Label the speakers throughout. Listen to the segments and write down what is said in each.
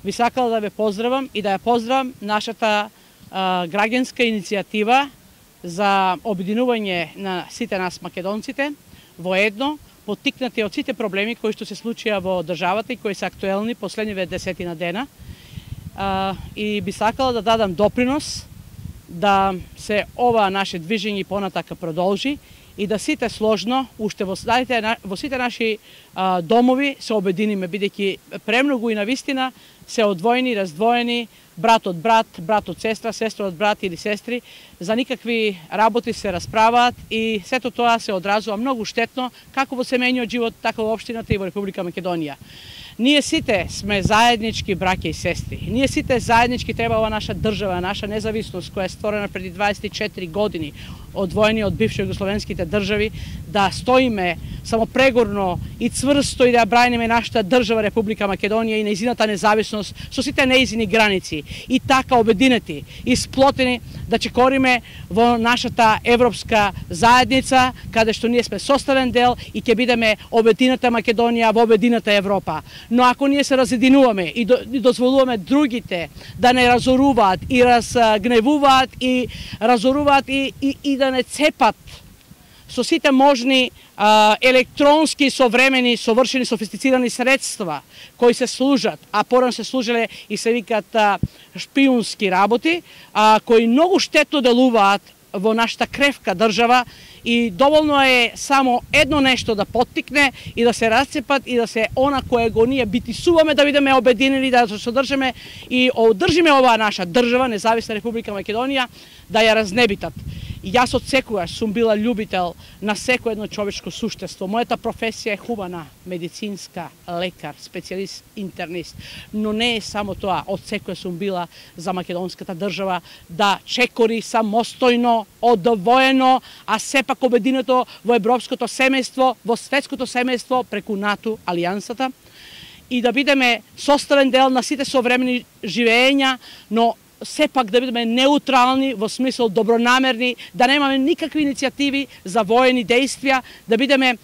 Speaker 1: би сакала да ве поздравам и да ја поздравам нашата граѓанска иницијатива за обединување на сите нас македонците воедно, поттикнати од сите проблеми кои што се случија во државата и кои се актуелни последниве 10 дена. И би сакала да дадам допринос да се ова наше движење понатака продолжи и да сите сложно, уште во сите наши домови се обединиме, бидејќи премногу и навистина се одвоени, раздвоени, брат од брат, брат од сестра, сестра од брат или сестри, за никакви работи се расправаат и сето тоа се одразува многу штетно како во семејниот живот, така во општината и во Република Македонија. Ние сите сме заеднички браќа и сестри. Ние сите заеднички треба ова наша држава, наша независност која е створена преди 24 години, одвоени од бивши југословенските држави, да стоиме само прегорно и цврсто и да ја браниме нашата држава Република Македонија и нејзината независност со сите нејзини граници. И така обединети и сплотени да чекориме во нашата европска заедница, каде што ние сме составен дел и ќе бидеме обедината Македонија во обедината Европа. Но ако ние се разединуваме и дозволуваме другите да не разоруваат и разгневуваат и разоруваат и да не цепат со сите можни електронски современи, совршени, софистицирани средства кои се служат, а порано се служеле и се викаат шпиунски работи, кои многу штетно делуваат во нашата кревка држава и доволно е само едно нешто да поттикне и да се расцепат и да се она кое го ние битисуваме да бидеме обединени, да се содржиме и одржиме оваа наша држава, независна Република Македонија, да ја разнебитат. Јас од секогаш сум била љубител на секој едно човечко суштество. Мојата професија е хумана, медицинска, лекар, специјалист, интернист. Но не е само тоа. Од секој сум била за македонската држава да чекори самостојно, одвоено, а сепак обединето во европското семејство, во светското семејство преку НАТО, алијансата, и да бидеме составен дел на сите современи живења, но сепак да бидеме неутрални во смисол добронамерни, да немаме никакви иницијативи за воени действија, да бидеме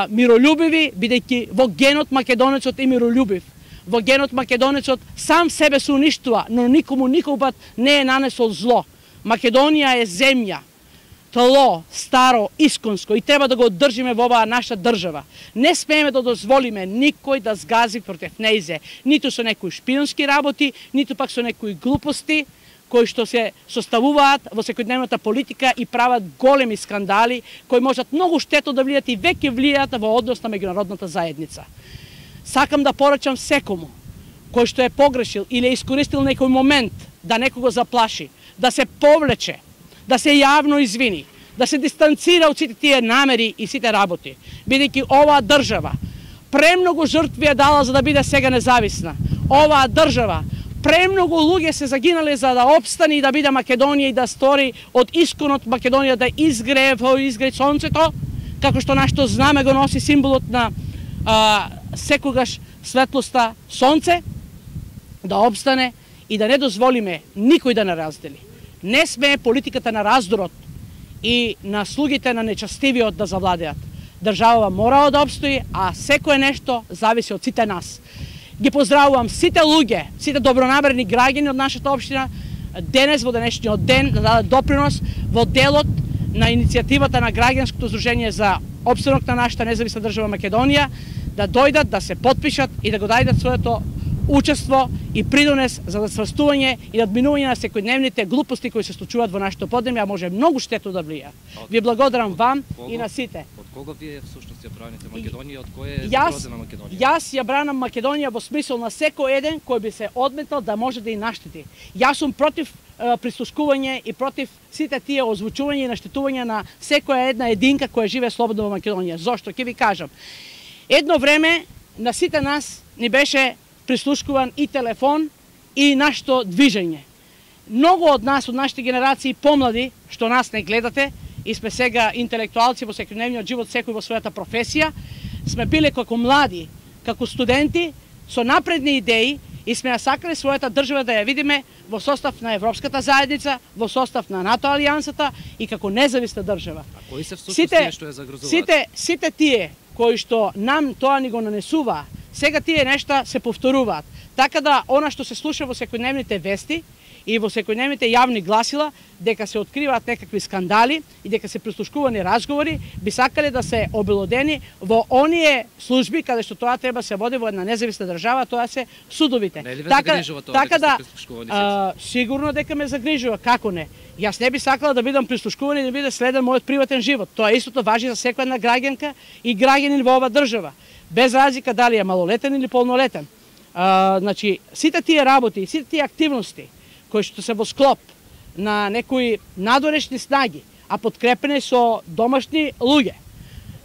Speaker 1: миролюбиви, бидејќи во генот македонецот е миролюбив. Во генот македонецот сам себе се уништува, но никому никогаш не е нанесол зло. Македонија е земја, тло, старо, исконско и треба да го одржиме во оваа наша држава. Не смееме да дозволиме никој да згази против нејзе, ниту со некои шпионски работи, ниту пак со некои глупости кои што се составуваат во секојдневната политика и прават големи скандали кои можат многу штетно да влијат и веќе влијаат во однос на меѓународната заедница. Сакам да порачам секому кој што е погрешил или е искористил некој момент да некого заплаши, да се повлече, да се јавно извини, да се дистанцира од сите тие намери и сите работи, бидејќи оваа држава премногу жртви е дала за да биде сега независна. Оваа држава премногу луѓе се загинале за да опстани и да биде Македонија и да стори од исконот Македонија да изгрее сонцето, како што нашето знаме го носи символот на секогаш светлоста сонце, да опстане и да не дозволиме никој да не раздели. Не смее политиката на раздорот и на слугите на нечестивиот да завладеат. Државава мора да опстои, а секое нешто зависи од сите нас. Ги поздравувам сите луѓе, сите добронамерни граѓани од нашата општина денес во денешниот ден да дадат допринос во делот на иницијативата на граѓанското здружение за опстанок на нашата независна држава Македонија, да дојдат, да се потпишат и да го дајдат своето учество и придонес за засврстување и надминување на секојдневните глупости кои се случуваат во нашето поднемје, а може многу штетно да влијаат. Ви благодарам вам и на сите.
Speaker 2: Од кого вие всушност ја браните Македонија, од кој е загрозена Македонија?
Speaker 1: Јас ја бранам Македонија во смисол на секој еден кој би се одметал да може да и наштети. Јас сум против прислушкување и против сите тие озвучување и наштетување на секоја една единка која живее слободно во Македонија. Зошто? Ќе ви кажам. Едно време на сите нас ни беше прислушкуван и телефон и нашето движење. Многу од нас, од нашите генерации помлади, што нас не гледате, и сме сега интелектуалци во секојдневниот живот, секој во својата професија, сме биле како млади, како студенти, со напредни идеи и сме ја сакале својата држава да ја видиме во состав на Европската заедница, во состав на НАТО алијансата и како независна држава.
Speaker 2: А кои се всушност тие што ја загрозуваат?
Speaker 1: Сите тие кои што нам тоа ни го нанесува, сега тие нешта се повторуваат. Така да, она што се слуша во секојдневните вести и во секојдневните јавни гласила, дека се откриваат некакви скандали и дека се прислушкувани разговори, би сакале да се обелодени во оние служби каде што тоа треба се води во една независна држава, тоа се судовите.
Speaker 2: Не ли ве загрижува тоа,
Speaker 1: така да,
Speaker 2: прислушкувани?
Speaker 1: Сигурно дека ме загрижува, како не? Јас не би сакала да бидам прислушкуван и да биде следен мојот приватен живот. Тоа истото важи за секоја една граѓанка и граѓанин во ова држава, без разлика дали е малолетен или полнолетен. Значи, сите тие работи, сите тие активности кои што се во склоп на некои надорешни снаги, а подкрепени со домашни луѓе,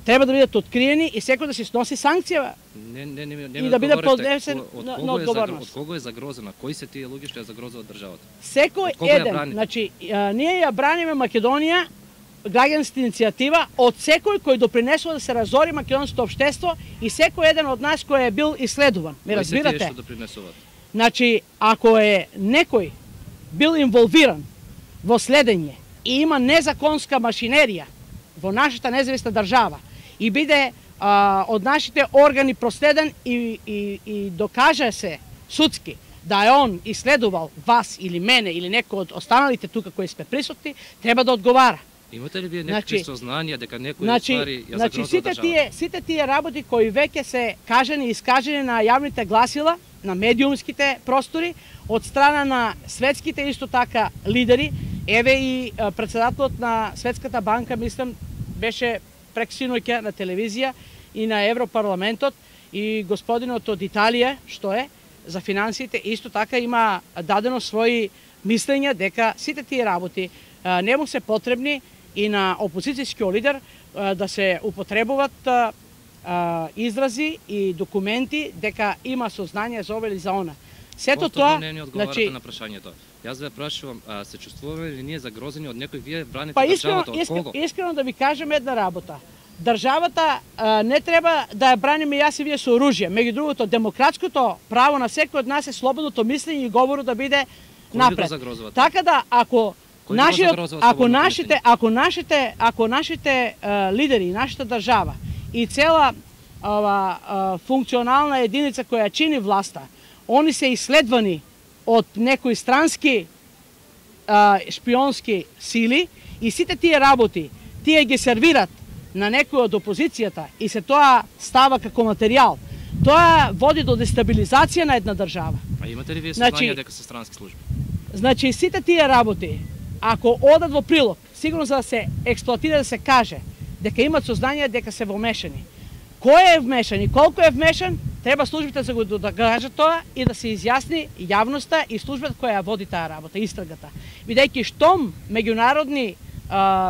Speaker 1: треба да бидат откриени и секој да се сноси санкција и да биде поднесен на одговорност.
Speaker 2: Од кого е загрозена? Кои се тие луѓе што ја загрозуваат државата?
Speaker 1: Секој еден, значи, ние ја браниме Македонија, граѓанска иницијатива, од секој кој допринесува да се разори македонското општество и секој еден од нас кој е бил исследуван. Ме разбирате?
Speaker 2: Кои се тие што допринесуваат?
Speaker 1: Значи, ако е некој бил инволвиран во следење и има незаконска машинерија во нашата независна држава и биде од нашите органи проследен и докаже се судски да е он исследувал вас или мене или некој од останалите тука кои сме присутни, треба да одговара.
Speaker 2: Имате ли вие некакви сознанија дека некој ствари ја загрозува државата?
Speaker 1: Сите тие работи кои веќе се кажани и искажени на јавните гласила, на медиумските простори, од страна на светските исто така лидери, еве и председателот на Светската банка, мислам, беше прексиноќа на телевизија и на Европарламентот и господинот од Италија, што е, за финансите, исто така има дадено своји мислења дека сите тие работи не му се потребни и на опозицијскиот лидер да се употребуваат изрази и документи дека има сознание за ова или за она. Сето тоа,
Speaker 2: не ни одговарате на прашањето. Јас ве прашувам, се чувствуваме ли ние загрозени од некој, вие браните државата, од кого?
Speaker 1: Искрено да ви кажем една работа. Државата не треба да ја браниме јас и вие со оружје. Меѓу другото, демократското право на секој од нас е слободното мислење и говорот да биде напред. Така да, ако нашите лидери и нашата држава и цела функционална единица која чини власта, они се исследвани од некои странски шпионски сили и сите тие работи, тие ги сервират на некој од опозицијата и се тоа става како материјал. Тоа води до дестабилизација на една држава.
Speaker 2: А имате ли вие сознание дека се странски служби?
Speaker 1: Значи, сите тие работи, ако одат во прилог, сигурно за да се експлоатира, да се каже дека имат сознание дека се вмешани. Кој е вмешан и колку е вмешан, треба службите да го кажат тоа и да се изјасни јавноста и службата која ја води таа работа, истрагата. Бидејќи штом меѓународни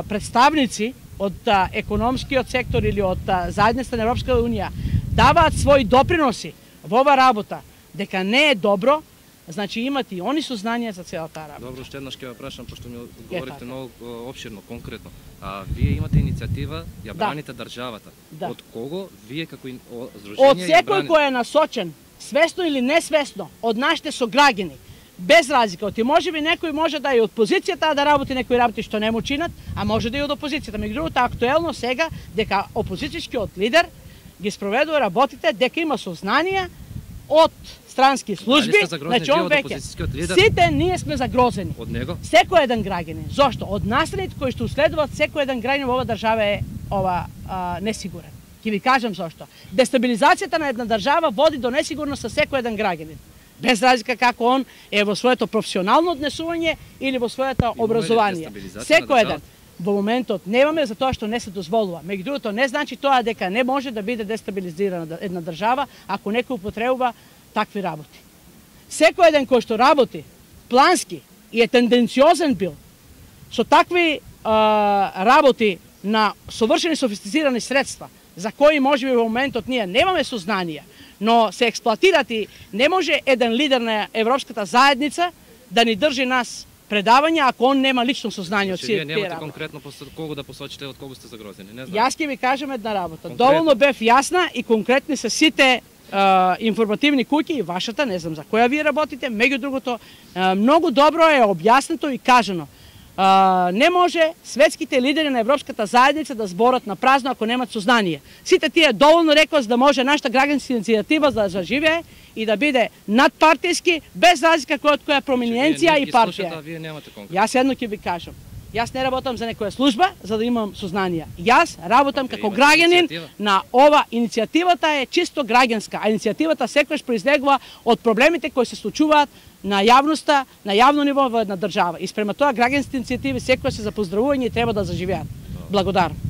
Speaker 1: представници од економскиот сектор или од заедницата на Европска унија даваат своји доприноси во ова работа, дека не е добро, значи имат и они сознание за целата работа.
Speaker 2: Добро, уште еднаш ќе ве прашам, пошто ми говорите многу опширно, конкретно. Вие имате иницијатива, ја браните државата. Од кого вие како здружение
Speaker 1: од секој кој е насочен, свесно или несвесно, од нашите сограѓани, без разлика. Оти можеби некој може да е од позицијата да работи некои работи што не му чинат, а може да е од опозицијата. Меѓу другото, актуелно сега дека опозицијскиот лидер ги спроведува работите, дека има сознание од странски служби, значи он веќе. Сите ние сме загрозени.
Speaker 2: Од него?
Speaker 1: Секој еден граѓанин. Зошто? Од настаните кои што следуваат, секој еден граѓанин во ова држава е несигурен. Ќе ви кажам зошто. Дестабилизацијата на една држава води до несигурност со секој еден граѓанин. Без разлика како он е во своето професионално однесување или во своето образование. Секој еден. Во моментот немаме за тоа што не се дозволува. Меѓу другото, не значи тоа дека не може да биде дестабилизирана една држава ако некој употребува такви работи. Секој еден кој што работи плански и е тенденциозен бил со такви работи на совршени софистицирани средства, за кои можеби во моментот ние немаме сознание, но се експлоатират и не може еден лидер на Европската заедница да ни држи нас предавања ако он нема лично сознание од сите тие работи.
Speaker 2: Вие немате конкретно кого да посочите, од кого сте загрозени, не знам.
Speaker 1: Јас ќе ви кажам една работа. Доволно бев јасна и конкретни се сите информативни куќи и вашата, не знам за која вие работите, меѓу другото, многу добро е објаснето и кажано. Не може светските лидери на Европската заедница да зборат на празно ако немат сознание. Сите тие доволно рекоа за да може нашата граѓанска иницијатива да заживее и да биде надпартијски, без разлика од која проминенција и партија. Јас едно ќе ви кажам. Јас не работам за некоја служба за да имам сознание. Јас работам како граѓанин на ова. Иницијативата е чисто граѓанска, а иницијативата секогаш произлегува од проблемите кои се случуваат на јавноста, на јавно ниво во една држава. И спрема тоа граѓанските иницијативи секогаш се за поздравување и треба да заживеат. Благодарам.